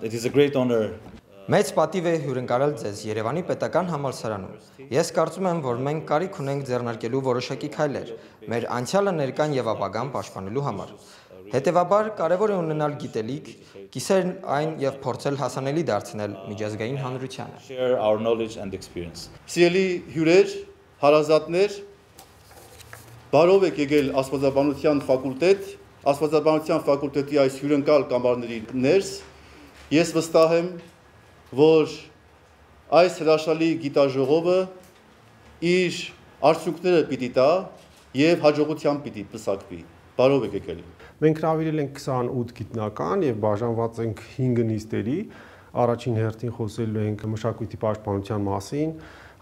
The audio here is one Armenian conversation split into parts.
It is a great honor. Մեծ պատիվ է հյուրընկալել ձեզ Երևանի պետական համալսարանում։ Ես կարծում եմ, որ մենք կարիք ունենք ձեռնարկելու որոշակի քայլեր մեր անցյալը, ներկան եւ ապագան պաշտպանելու համար։ Հետևաբար կարևոր է ունենալ գիտելիք, կիսել այն եւ փորձել հասանելի դարձնել միջազգային հանրությանը։ Share our knowledge and experience. Սիրելի հյուրեր, հարազատներ, բարով եք եկել Աստվածաբանության ֆակուլտետ, Աստվածաբանության ֆակուլտետի այս հյուրընկալ կամարների ներս։ Ես վստահ եմ, որ այս հրաշալի գիտաժողովը իր արդյունքները պիտի տա եւ հաջողությամբ պիտի պսակվի։ Բարով եք եկել։ Մենք հրավիրել ենք 28 գիտնական եւ բաժանված ենք 5 նիստերի։ Առաջին հերթին խոսելու ենք մշակույթի պաշտպանության մասին,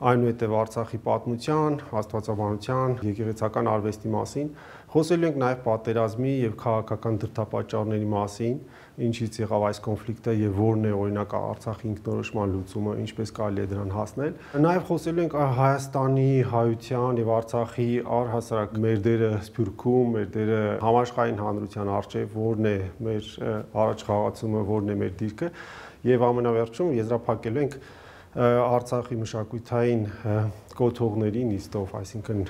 այնուհետև Արցախի պատմության, աստվածաբանության, եկեղեցական արվեստի մասին, խոսելու ենք նաև պատերազմի եւ քաղաքական դրդապատճառների մասին, ինչից եղավ այս կոնֆլիկտը եւ որն է օրինակ Արցախի ինքնորոշման լուծումը, ինչպես կարելի է դրան հասնել։ Նաև խոսելու ենք Հայաստանի, հայության եւ Արցախի առհասարակ մեր դերը Սփյուռքում, մեր դերը համաշխարհային հանրության առջեւ, որն է մեր առաջխաղացումը, որն է մեր դիրքը եւ ամենավերջում եզրափակելու ենք Արցախի մշակութային կոթողների նիստով, այսինքն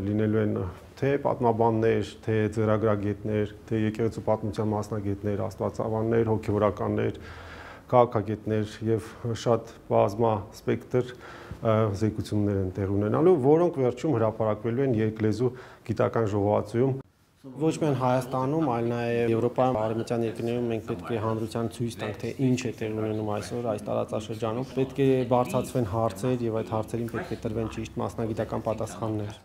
լինելու են թե պատմաբաններ, թե ծրագրագետներ, թե եկեղեցու պատմության մասնագետներ, աստվածաբաններ, հոգեվորականներ, քաղաքագետներ եւ շատ բազմա սպեկտր զեկույցումներ են տեղ ունենալու, որոնք վերջում հրապարակվելու են երկլեզու գիտական ժողովածուում։ Ոչ միայն Հայաստանում, այլ նաև Եվրոպայում, արևմտյան երկրներում մենք պետք է հանրության ցույց տանք, թե ինչ է տեղ ունենում այսօր այս տարածաշրջանում։ Պետք է բարձրացվեն հարցեր եւ այդ հարցերին պետք է տրվեն ճիշտ մասնագիտական պատասխաններ։